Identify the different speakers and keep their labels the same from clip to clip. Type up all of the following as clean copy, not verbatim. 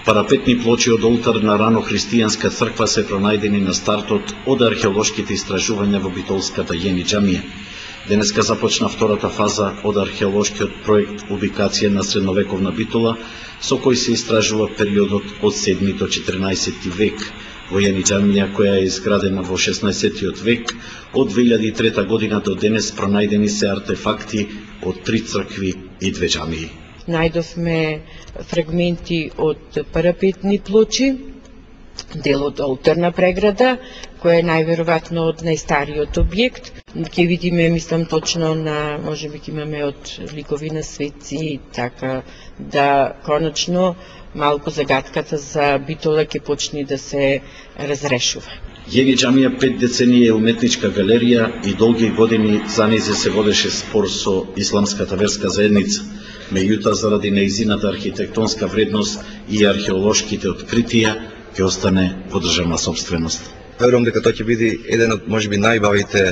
Speaker 1: Парапетни плочи од олтар на рано христијанска црква се пронајдени на стартот од археолошките истражувања во битолската Јени џамија. Денеска започна втората фаза од археолошкиот проект Убикација на средновековна Битола, со кој се истражува периодот од 7 до 14 век. Во Јени џамија, која е изградена во 16 век, од 2003 година до денес пронајдени се артефакти од 3 цркви и 2 џамии.
Speaker 2: Најдовме фрагменти од парапетни плочи, дел од олтарна преграда, која е најверојатно од најстариот објект. Ќе видиме, мислам, точно на, можеби ќе имаме од ликови на светци, така да конечно малку загадката за Битола ќе почне да се разрешува.
Speaker 1: Јени џамија 5 децении е уметничка галерија и долги години за нејзе се водеше спор со исламската верска заедница. Меѓутоа, заради нејзината архитектонска вредност и археолошките откритија, ќе остане во државна сопственост.
Speaker 3: Верувам дека тоа ќе биде еден од можеби најбавите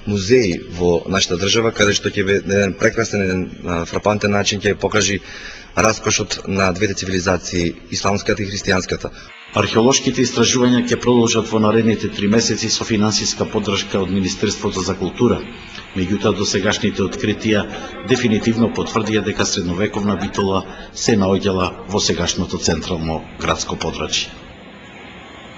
Speaker 3: музеи во нашата држава, каде што ќе биде еден прекрасен, еден фрапантен начин ќе покажи раскошот на двете цивилизации, исламската и христијанската.
Speaker 1: Археолошките истражувања ќе продолжат во наредните 3 месеци со финансиска поддршка од Министерството за култура. Меѓутоа, досегашните откритија дефинитивно потврдија дека средновековна Битола се наоѓала во сегашното централно градско подрачје.